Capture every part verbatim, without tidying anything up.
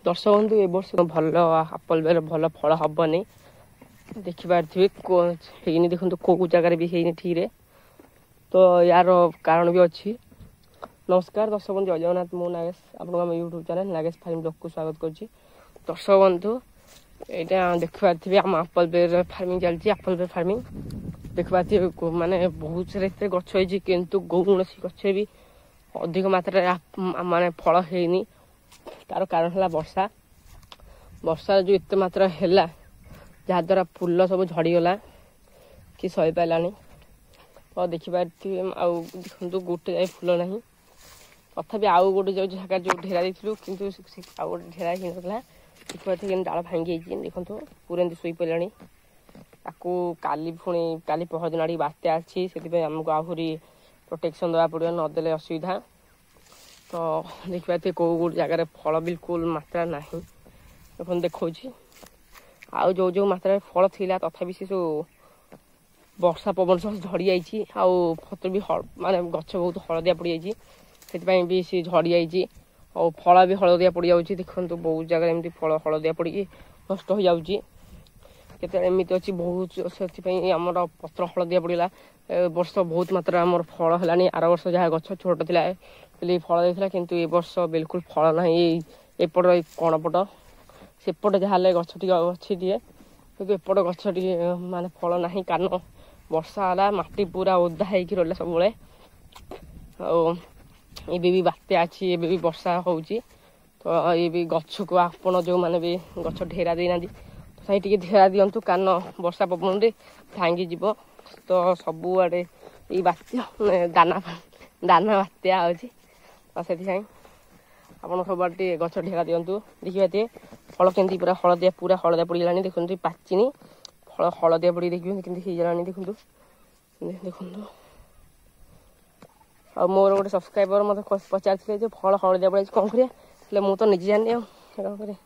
ଦର୍ଶକ ବନ୍ଧୁ, ଏ ବର୍ଷ ଭଲ ଆପଲ୍ ବେର ଭଲ ଫଳ ହବନି। ଦେଖିପାରୁଥିବେ, ହେଇନି। ଦେଖନ୍ତୁ, କେଉଁ ଜାଗାରେ ବି ହେଇନି ଠିକ୍ରେ। ତ ୟାର କାରଣ ବି ଅଛି। ନମସ୍କାର ଦର୍ଶକ ବନ୍ଧୁ, ଜୟ ଜଗନ୍ନାଥ। ମୁଁ ନାଗେଶ, ଆପଣଙ୍କୁ ଆମ ୟୁଟ୍ୟୁବ୍ ଚ୍ୟାନେଲ୍ ନାଗେଶ ଫାର୍ମ ବ୍ଲଗ୍କୁ ସ୍ୱାଗତ କରୁଛି। ଦର୍ଶକ ବନ୍ଧୁ, ଏଇଟା ଦେଖିପାରୁଥିବେ, ଆମ ଆପଲ୍ ବେର ଫାର୍ମିଂ ଚାଲିଛି। ଆପଲ୍ ବେର ଫାର୍ମିଂ ଦେଖିପାରୁଥିବେ, ମାନେ ବହୁତ ସାରା ଏତେ ଗଛ ହେଇଛି, କିନ୍ତୁ କୌଣସି ଗଛ ବି ଅଧିକ ମାତ୍ରାରେ ମାନେ ଫଳ ହେଇନି। ତାର କାରଣ ହେଲା ବର୍ଷା। ବର୍ଷା ଯେଉଁ ଏତେ ମାତ୍ରା ହେଲା, ଯାହାଦ୍ୱାରା ଫୁଲ ସବୁ ଝଡ଼ିଗଲା କି ସହିପାରିଲାନି। ତ ଦେଖିପାରୁଥିବେ, ଆଉ ଦେଖନ୍ତୁ, ଗୋଟେ ଯାଏ ଫୁଲ ନାହିଁ। ତଥାପି ଆଉ ଗୋଟେ ଯେଉଁ ଜାଗା ଯେଉଁ ଢେରା ଦେଇଥିଲୁ, କିନ୍ତୁ ଆଉ ଗୋଟେ ଢେରା ହେଇନଥିଲା। ଦେଖିପାରୁଥିବେ, କେମିତି ଡାଳ ଭାଙ୍ଗି ଯାଇଛି। ଦେଖନ୍ତୁ, ପୁରା ଏମିତି ଶୋଇପଡ଼ିଲାଣି। ତାକୁ କାଲି ପୁଣି କାଲି ପହରଦିନ ଆଡ଼ିକି ବାତ୍ୟା ଅଛି, ସେଥିପାଇଁ ଆମକୁ ଆହୁରି ପ୍ରୋଟେକ୍ସନ୍ ଦେବାକୁ ପଡ଼ିବ, ନଦେଲେ ଅସୁବିଧା। ତ ଦେଖିପାରୁଥିବେ, କେଉଁ କେଉଁ ଜାଗାରେ ଫଳ ବିଲକୁଲ ମାତ୍ରା ନାହିଁ। ଦେଖନ୍ତୁ, ଦେଖାଉଛି। ଆଉ ଯେଉଁ ଯେଉଁ ମାତ୍ରାରେ ଫଳ ଥିଲା, ତଥାପି ସେ ସବୁ ବର୍ଷା ପବନ ସହ ଝଡ଼ି ଯାଇଛି। ଆଉ ପତ୍ର ବି ମାନେ ଗଛ ବହୁତ ହଳଦିଆ ପଡ଼ିଯାଇଛି, ସେଥିପାଇଁ ବି ସେ ଝଡ଼ି ଯାଇଛି। ଆଉ ଫଳ ବି ହଳଦିଆ ପଡ଼ିଯାଉଛି। ଦେଖନ୍ତୁ, ବହୁତ ଜାଗାରେ ଏମିତି ଫଳ ହଳଦିଆ ପଡ଼ିକି ନଷ୍ଟ ହୋଇଯାଉଛି। କେତେ ଏମିତି ଅଛି ବହୁତ, ସେଥିପାଇଁ ଆମର ପତ୍ର ହଳଦିଆ ପଡ଼ିଗଲା। ଏ ବର୍ଷ ବହୁତ ମାତ୍ରାରେ ଆମର ଫଳ ହେଲାନି। ଆର ବର୍ଷ ଯାହା ଗଛ ଛୋଟ ଥିଲା ବୋଲି ଫଳ ଦେଇଥିଲା, କିନ୍ତୁ ଏ ବର୍ଷ ବିଲକୁଲ ଫଳ ନାହିଁ। ଏଇ ଏପଟ ଏଇ କଣ ପଟ ସେପଟେ ଯାହା ହେଲେ ଗଛ ଟିକେ ଅଛି ଟିକେ, କିନ୍ତୁ ଏପଟ ଗଛ ଟିକେ ମାନେ ଫଳ ନାହିଁ, କାରଣ ବର୍ଷା ହେଲା, ମାଟି ପୁରା ଓଦା ହେଇକି ରହିଲା ସବୁବେଳେ। ଆଉ ଏବେ ବି ବାତ୍ୟା ଅଛି, ଏବେ ବି ବର୍ଷା ହେଉଛି। ତ ଏ ବି ଗଛକୁ ଆପଣ ଯେଉଁମାନେ ବି ଗଛ ଢେରା ଦେଇନାହାନ୍ତି, ତଥାପି ଟିକେ ଢେରା ଦିଅନ୍ତୁ, କାରଣ ବର୍ଷା ପବନରେ ଭାଙ୍ଗିଯିବ। ତ ସବୁଆଡ଼େ ଏଇ ବାତ୍ୟା ଦାନା ଦାନା ବାତ୍ୟା ଅଛି, ତ ସେଥିପାଇଁ ଆପଣ ସବୁଆଡ଼େ ଟିକେ ଗଛ ଢେରା ଦିଅନ୍ତୁ। ଦେଖିବା ଟିକେ ଫଳ କେମିତି ପୁରା ହଳଦିଆ, ପୁରା ହଳଦିଆ ପଡ଼ିଗଲାଣି। ଦେଖନ୍ତୁ, ପାଚିନି ଫଳ, ହଳଦିଆ ପଡ଼ିକି ଦେଖିବେ କେମିତି ହେଇଗଲାଣି। ଦେଖନ୍ତୁ, ଦେଖନ୍ତୁ। ଆଉ ମୋର ଗୋଟେ ସବସ୍କ୍ରାଇବର ମୋତେ ପଚାରିଥିଲେ ଯେ ଫଳ ହଳଦିଆ ପଡ଼ିଯାଇଛି, କ'ଣ କରିବା? ହେଲେ ମୁଁ ତ ନିଜେ ଜାଣିନି, ଆଉ କ'ଣ କରିବା?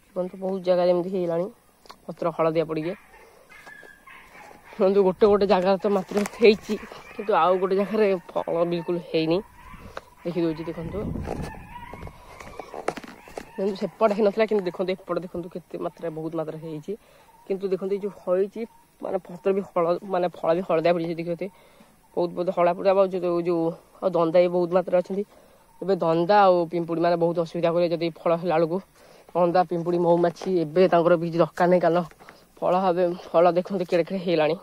ଦେଖନ୍ତୁ, ବହୁତ ଜାଗାରେ ଏମିତି ହେଇଗଲାଣି ପତ୍ର ହଳଦିଆ ପଡ଼ିକି। ଦେଖନ୍ତୁ, ଗୋଟେ ଗୋଟେ ଜାଗାରେ ତ ମାତ୍ର ହେଇଛି, କିନ୍ତୁ ଆଉ ଗୋଟେ ଜାଗାରେ ଫଳ ବିଲକୁଲ ହେଇନି। ଦେଖିଦେଉଛି, ଦେଖନ୍ତୁ। କିନ୍ତୁ ସେପଟେ ହେଇନଥିଲା, କିନ୍ତୁ ଦେଖନ୍ତୁ, ଏପଟେ ଦେଖନ୍ତୁ କେତେ ମାତ୍ରାରେ, ବହୁତ ମାତ୍ରାରେ ହେଇଛି। କିନ୍ତୁ ଦେଖନ୍ତୁ, ଏଇ ଯେଉଁ ହେଇଛି, ମାନେ ପତ୍ର ବି ହଳ ମାନେ ଫଳ ବି ହଳଦିଆ ପଡ଼ିଯାଇଛି। ଦେଖିବେ, ବହୁତ ବହୁତ ହଳଦିଆ ପଡ଼ିବା। ଆଉ ଯେଉଁ ଯେଉଁ ଆଉ ଦନ୍ଦା ବି ବହୁତ ମାତ୍ରାରେ ଅଛନ୍ତି ଏବେ। ଦନ୍ଦା ଆଉ ପିମ୍ପୁଡ଼ି ମାନେ ବହୁତ ଅସୁବିଧା କରିବେ। ଯଦି ଫଳ ହେଲା ବେଳକୁ ଦନ୍ଦା, ପିମ୍ପୁଡ଼ି, ମହୁମାଛି, ଏବେ ତାଙ୍କର କିଛି ଦରକାର ନାହିଁ, କାରଣ ଫଳ ଏବେ ଫଳ ଦେଖନ୍ତୁ କେଡ଼େ କେଡ଼େ ହେଇଗଲାଣି।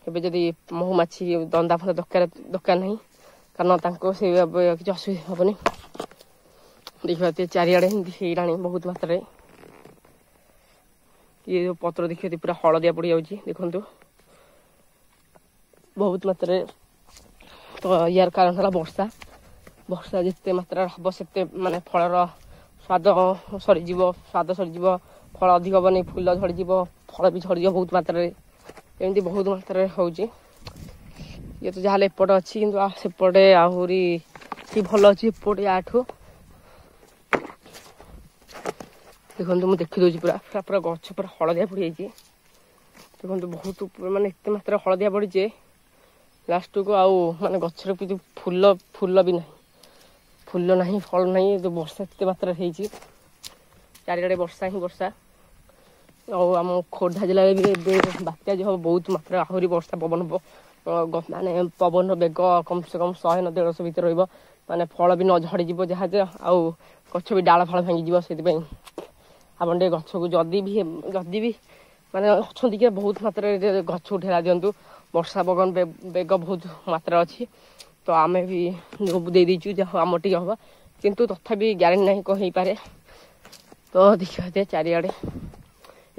ଏବେ ଯଦି ମହୁମାଛି, ଦନ୍ଦା ଫନ୍ଦା ଦରକାର ଦରକାର ନାହିଁ, କାରଣ ତାଙ୍କୁ ସେ କିଛି ଅସୁବିଧା ହେବନି। ଦେଖିବା, ଚାରିଆଡ଼େ ଏମିତି ହେଇଗଲାଣି ବହୁତ ମାତ୍ରାରେ। ଇଏ ଯେଉଁ ପତ୍ର ଦେଖିବେ, ପୁରା ହଳଦିଆ ପଡ଼ିଯାଉଛି। ଦେଖନ୍ତୁ, ବହୁତ ମାତ୍ରାରେ। ତ ୟାର କାରଣ ହେଲା ବର୍ଷା। ବର୍ଷା ଯେତେ ମାତ୍ରାରେ ହେବ, ସେତେ ମାନେ ଫଳର ସ୍ୱାଦ ସରିଯିବ, ସ୍ୱାଦ ସରିଯିବ, ଫଳ ଅଧିକ ହେବନି, ଫୁଲ ଝଡ଼ିଯିବ, ଫଳ ବି ଝଡ଼ିଯିବ ବହୁତ ମାତ୍ରାରେ। ଏମିତି ବହୁତ ମାତ୍ରାରେ ହେଉଛି। ଇଏ ତ ଯାହାହେଲେ ଏପଟେ ଅଛି, କିନ୍ତୁ ସେପଟେ ଆହୁରି ଭଲ ଅଛି ଏପଟେ ୟାଠୁ। ଦେଖନ୍ତୁ, ମୁଁ ଦେଖିଦେଉଛି, ପୁରା ପୁରା ପୁରା ଗଛ ପୁରା ହଳଦିଆ ପଡ଼ିଯାଇଛି। ଦେଖନ୍ତୁ, ବହୁତ ମାନେ ଏତେ ମାତ୍ରାରେ ହଳଦିଆ ପଡ଼ିଛି, ଲାଷ୍ଟକୁ ଆଉ ମାନେ ଗଛରେ କିଛି ଫୁଲ ଫୁଲ ବି ନାହିଁ, ଫୁଲ ନାହିଁ, ଫଳ ନାହିଁ। ଯେଉଁ ବର୍ଷା ଏତେ ମାତ୍ରାରେ ହେଇଛି, ଚାରିଆଡ଼େ ବର୍ଷା ହିଁ ବର୍ଷା। ଆଉ ଆମ ଖୋର୍ଦ୍ଧା ଜିଲ୍ଲାରେ ବି ଏବେ ବାତ୍ୟା ଯେଉଁ ହେବ, ବହୁତ ମାତ୍ରାରେ ଆହୁରି ବର୍ଷା ପବନ ହେବ। ମାନେ ପବନର ବେଗ କମ୍ ସେ କମ୍ ଶହେ ନ ଦେଢ଼ଶହ ଭିତରେ ରହିବ, ମାନେ ଫଳ ବି ନ ଝଡ଼ିଯିବ ଯାହା ଯେ, ଆଉ ଗଛ ବି ଡାଳ ଫାଳ ଭାଙ୍ଗିଯିବ। ସେଥିପାଇଁ ଆପଣ ଟିକେ ଗଛକୁ ଯଦି ବି ଯଦି ବି ମାନେ ଅଛନ୍ତି କି, ବହୁତ ମାତ୍ରାରେ ଗଛକୁ ଢେରା ଦିଅନ୍ତୁ। ବର୍ଷା ପବନ ବେଗ ବହୁତ ମାତ୍ରା ଅଛି। ତ ଆମେ ବି ଦେଇଦେଇଛୁ, ଯାହା ଆମର ଟିକେ ହବ, କିନ୍ତୁ ତଥାପି ଗ୍ୟାରେଣ୍ଟି ନାହିଁ କ'ଣ ହେଇପାରେ। ତ ଦେଖିବା, ଚାରିଆଡ଼େ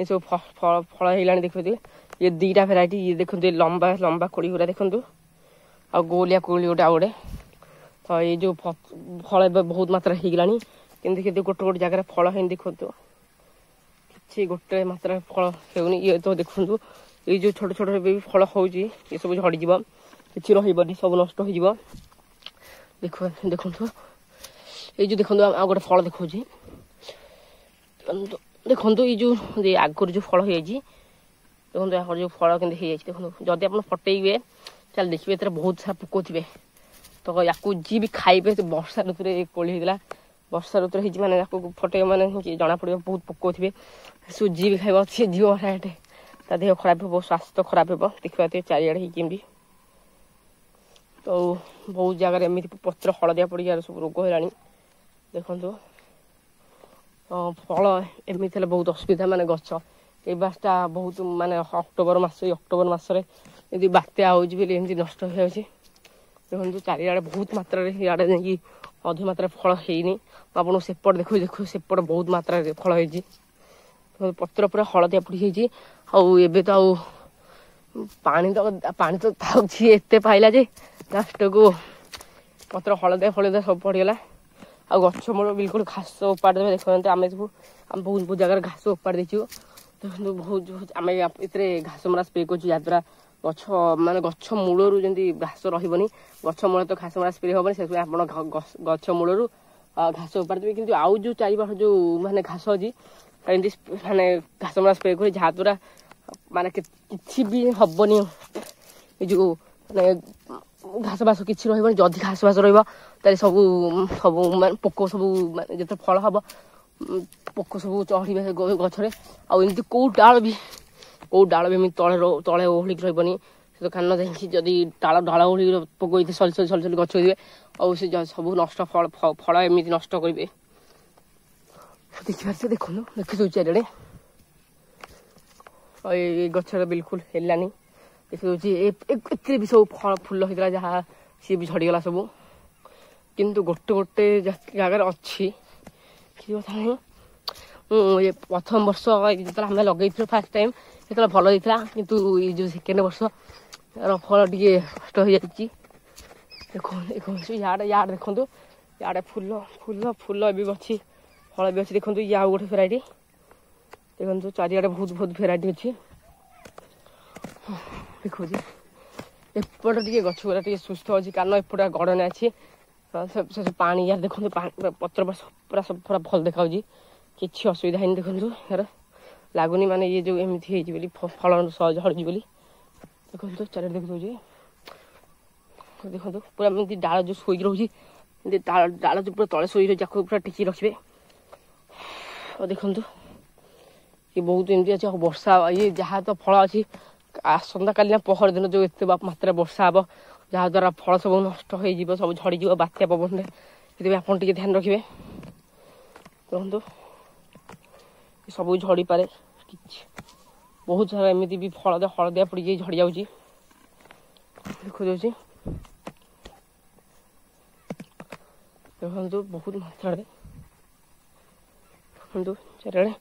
ଏସବୁ ଫଳ ଫଳ ହେଇଗଲାଣି। ଦେଖୁଥିବେ, ଇଏ ଦୁଇଟା ଭେରାଇଟି। ଇଏ ଦେଖନ୍ତୁ, ଲମ୍ବା ଲମ୍ବା କୋଳି ଗୁଡ଼ା ଦେଖନ୍ତୁ, ଆଉ ଗୋଲିଆ କୋଳି ଗୋଟେ, ଆଉ ଗୋଟେ। ତ ଏଇ ଯେଉଁ ଫଳ ଏବେ ବହୁତ ମାତ୍ରାରେ ହେଇଗଲାଣି, କିନ୍ତୁ କିନ୍ତୁ ଗୋଟେ ଗୋଟେ ଜାଗାରେ ଫଳ ହେଇନି। ଦେଖନ୍ତୁ, କିଛି ଗୋଟେ ମାତ୍ରାରେ ଫଳ ହେଉନି। ଇଏ ତ ଦେଖନ୍ତୁ, ଏଇ ଯେଉଁ ଛୋଟ ଛୋଟ ଏବେ ବି ଫଳ ହେଉଛି, ଏସବୁ ଝଡ଼ିଯିବ, କିଛି ରହିବନି, ସବୁ ନଷ୍ଟ ହେଇଯିବ। ଦେଖ, ଦେଖନ୍ତୁ, ଏଇ ଯେଉଁ ଦେଖନ୍ତୁ, ଆଉ ଗୋଟେ ଫଳ ଦେଖାଉଛି। ଦେଖନ୍ତୁ, ଏଇ ଯେଉଁ ଆଗରୁ ଯେଉଁ ଫଳ ହେଇଯାଇଛି, ଦେଖନ୍ତୁ, ଆଗରୁ ଯେଉଁ ଫଳ କେମିତି ହେଇଯାଇଛି। ଦେଖନ୍ତୁ, ଯଦି ଆପଣ ଫଟେଇବେ ତାହେଲେ ଦେଖିବେ ଏଥିରେ ବହୁତ ସାରା ପୋକ ଥିବେ। ତ ୟାକୁ ଯିଏ ବି ଖାଇବେ, ବର୍ଷା ଋତୁରେ କୋଳି ହେଇଥିଲା, ବର୍ଷା ଋତୁରେ ହେଇଛି ମାନେ ତାକୁ ଫଟେଇବ ମାନେ ଜଣାପଡ଼ିବ ବହୁତ ପୋକ ଥିବେ। ସୁଜି ବି ଖାଇବ ସିଏ ଯିବ ଡାଇରେକ୍ଟ, ତା ଦେହ ଖରାପ ହେବ, ସ୍ୱାସ୍ଥ୍ୟ ଖରାପ ହେବ। ଦେଖିପାରୁଥିବେ ଚାରିଆଡ଼େ ହେଇକି ଏମିତି। ତ ବହୁତ ଜାଗାରେ ଏମିତି ପତ୍ର ହଳଦିଆ ପଡ଼ିକି ଆର ସବୁ ରୋଗ ହେଲାଣି ଦେଖନ୍ତୁ। ଫଳ ଏମିତି ହେଲେ ବହୁତ ଅସୁବିଧା, ମାନେ ଗଛ ଏଇ ବାସଟା ବହୁତ ମାନେ ଅକ୍ଟୋବର ମାସ, ଏଇ ଅକ୍ଟୋବର ମାସରେ ଏମିତି ବାତ୍ୟା ହେଉଛି ବୋଲି ଏମିତି ନଷ୍ଟ ହେଇଯାଉଛି। ଦେଖନ୍ତୁ ଚାରିଆଡ଼େ ବହୁତ ମାତ୍ରାରେ ଇଆଡ଼େ ଯାଇକି ଅଧିକ ମାତ୍ରାରେ ଫଳ ହେଇନି। ମୁଁ ଆପଣଙ୍କୁ ସେପଟେ ଦେଖୁଛି, ଦେଖୁ ସେପଟେ ବହୁତ ମାତ୍ରାରେ ଫଳ ହେଇଛି। ପତ୍ର ପୁରା ହଳଦିଆ ପଡ଼ିଯାଇଛି। ଆଉ ଏବେ ତ ଆଉ ପାଣି ତ ପାଣି ତ ଥାଉଛି ଏତେ ପାଇଲା ଯେ ଲାଷ୍ଟକୁ ପତ୍ର ହଳଦିଆ ଫଳଦିଆ ସବୁ ପଡ଼ିଗଲା। ଆଉ ଗଛ ମୂଳ ବିଲକୁଲ ଘାସ ଉପାଡ଼ି ଦେବେ। ଦେଖନ୍ତୁ ଆମେ ସବୁ ଆମେ ବହୁତ ବହୁତ ଜାଗାରେ ଘାସ ଉପାଡ଼ି ଦେଇଛୁ। ଦେଖନ୍ତୁ ବହୁତ ଆମେ ଏଥିରେ ଘାସ ମରା ସ୍ପ୍ରେ କରୁଛୁ, ଯାହାଦ୍ୱାରା ଗଛ ମାନେ ଗଛ ମୂଳରୁ ଯେମିତି ଘାସ ରହିବନି। ଗଛ ମୂଳ ତ ଘାସ ମରା ସ୍ପ୍ରେ ହେବନି, ସେଥିପାଇଁ ଆପଣ ଗଛ ମୂଳରୁ ଘାସ ଉପାଡ଼ି ଦେବେ। କିନ୍ତୁ ଆଉ ଯେଉଁ ଚାରିପାଖ ଯେଉଁ ମାନେ ଘାସ ଅଛି ଏମିତି ମାନେ ଘାସ ମରା ସ୍ପ୍ରେ କରି, ଯାହାଦ୍ୱାରା ମାନେ କିଛି ବି ହବନି। ଏ ଯେଉଁ ମାନେ ଘାସ ବାସ କିଛି ରହିବନି। ଯଦି ଘାସ ବାସ ରହିବ ତାହେଲେ ସବୁ ସବୁ ମାନେ ପୋକ ସବୁ ମାନେ ଯେତେ ଫଳ ହବ ପୋକ ସବୁ ଚଢ଼ିବେ ଗଛରେ। ଆଉ ଏମିତି କେଉଁ ଡାଳ ବି କେଉଁ ଡାଳ ବି ଏମିତି ତଳେ ତଳେ ଓହଳିକି ରହିବନି। ସେ ତ କାନ ଯାଇକି ଯଦି ଡାଳ ଡାଳ ଓହଳିକି ପୋକ ହେଇଥିବେ ସରି ସରି ସରି ସରି ଗଛ ହେଇଥିବେ, ଆଉ ସେ ସବୁ ନଷ୍ଟ ଫଳ ଫଳ ଏମିତି ନଷ୍ଟ କରିବେ। ଦେଖିପାରୁଥିବେ, ଦେଖନ୍ତୁ ଦେଖିଦେଉଛି ଚାରିଆଡ଼େ। ଆଉ ଏଇ ଗଛରେ ବିଲକୁଲ ହେଲାନି, ଦେଖିଦେଉଛି। ଏଥିରେ ବି ସବୁ ଫଳ ଫୁଲ ହେଇଥିଲା ଯାହା, ସିଏ ବି ଝଡ଼ିଗଲା ସବୁ। କିନ୍ତୁ ଗୋଟେ ଗୋଟେ ଜାଗାରେ ଅଛି, କିଛି କଥା ନାହିଁ। ମୁଁ ଏ ପ୍ରଥମ ବର୍ଷ ଯେତେବେଳେ ଆମେ ଲଗେଇଥିଲୁ ଫାର୍ଷ୍ଟ ଟାଇମ୍, ସେତେବେଳେ ଭଲ ହେଇଥିଲା। କିନ୍ତୁ ଏଇ ଯେଉଁ ସେକେଣ୍ଡ ବର୍ଷ ର ଫଳ ଟିକେ ନଷ୍ଟ ହେଇଯାଇଛି। ଦେଖନ୍ତୁ ଦେଖନ୍ତୁ ଇଆଡ଼େ ଇଆଡ଼େ ଦେଖନ୍ତୁ, ଇଆଡ଼େ ଫୁଲ ଫୁଲ ଫୁଲ ଏବେ ବି ଅଛି, ଫଳ ବି ଅଛି। ଦେଖନ୍ତୁ ଇଏ ଆଉ ଗୋଟେ ଭେରାଇଟି। ଦେଖନ୍ତୁ ଚାରିଆଡ଼େ ବହୁତ ବହୁତ ଭେରାଇଟି ଅଛି ଦେଖୁଛି। ଏପଟେ ଟିକେ ଗଛ ଗୁଡ଼ା ଟିକେ ସୁସ୍ଥ ଅଛି, କାରଣ ଏପଟେ ଗଡ଼ନା ଅଛି। ସେ ପାଣି ୟାର ଦେଖନ୍ତୁ, ପାଣି ପତ୍ର ପୁରା ସବୁ ପୁରା ଭଲ ଦେଖାଯାଉଛି, କିଛି ଅସୁବିଧା ହେଇନି। ଦେଖନ୍ତୁ ୟାର ଲାଗୁନି ମାନେ ଇଏ ଯେଉଁ ଏମିତି ହେଇଛି ବୋଲି ଫଳ ଝଡ଼ୁଛି ବୋଲି। ଦେଖନ୍ତୁ ଚାରିଆଡ଼େ ଦେଖିଦେଉଛି। ଦେଖନ୍ତୁ ପୁରା ଏମିତି ଡାଳ ଯେଉଁ ଶୋଇକି ରହୁଛି, ଏମିତି ଡାଳ ଡାଳ ଯେଉଁ ପୁରା ତଳେ ଶୋଇ ରହୁଛି, ତାକୁ ପୁରା ଟେକି ରଖିବେ। ଆଉ ଦେଖନ୍ତୁ ଇଏ ବହୁତ ଏମିତି ଅଛି। ଆଉ ବର୍ଷା ଇଏ ଯାହା ତ ଫଳ ଅଛି, ଆସନ୍ତାକାଲି ନା ପହର ଦିନ ଯେଉଁ ଏତେ ମାତ୍ରାରେ ବର୍ଷା ହେବ, ଯାହାଦ୍ୱାରା ଫଳ ସବୁ ନଷ୍ଟ ହେଇଯିବ, ସବୁ ଝଡ଼ିଯିବ ବାତ୍ୟା ପବନରେ। ସେଥିପାଇଁ ଆପଣ ଟିକେ ଧ୍ୟାନ ରଖିବେ। ଦେଖନ୍ତୁ ସବୁ ଝଡ଼ିପାରେ, କିଛି ବହୁତ ସାରା ଏମିତି ବି ଫଳ ହଳଦିଆ ପଡ଼ିକି ଝଡ଼ି ଯାଉଛି ଦେଖାଯାଉଛି। ଦେଖନ୍ତୁ ବହୁତ ମାତ୍ରାରେ, ଦେଖନ୍ତୁ ଚାରିଆଡ଼େ।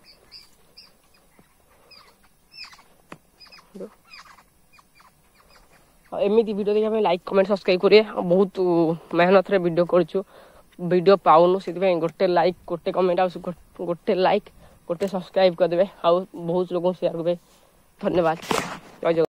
ଏମିତି ଭିଡ଼ିଓ ଦେଖିବା ପାଇଁ ଲାଇକ୍ କମେଣ୍ଟ ସବସ୍କ୍ରାଇବ୍ କରିବେ। ଆଉ ବହୁତ ମେହନତରେ ଭିଡ଼ିଓ କରୁଛୁ, ଭିଡ଼ିଓ ପାଉନୁ, ସେଥିପାଇଁ ଗୋଟେ ଲାଇକ୍ ଗୋଟେ କମେଣ୍ଟ ଆଉ ଗୋଟେ ଲାଇକ୍ ଗୋଟେ ସବସ୍କ୍ରାଇବ୍ କରିଦେବେ, ଆଉ ବହୁତ ଲୋକଙ୍କୁ ସେୟାର କରିବେ। ଧନ୍ୟବାଦ, ଜୟ ଜଗନ୍ନାଥ।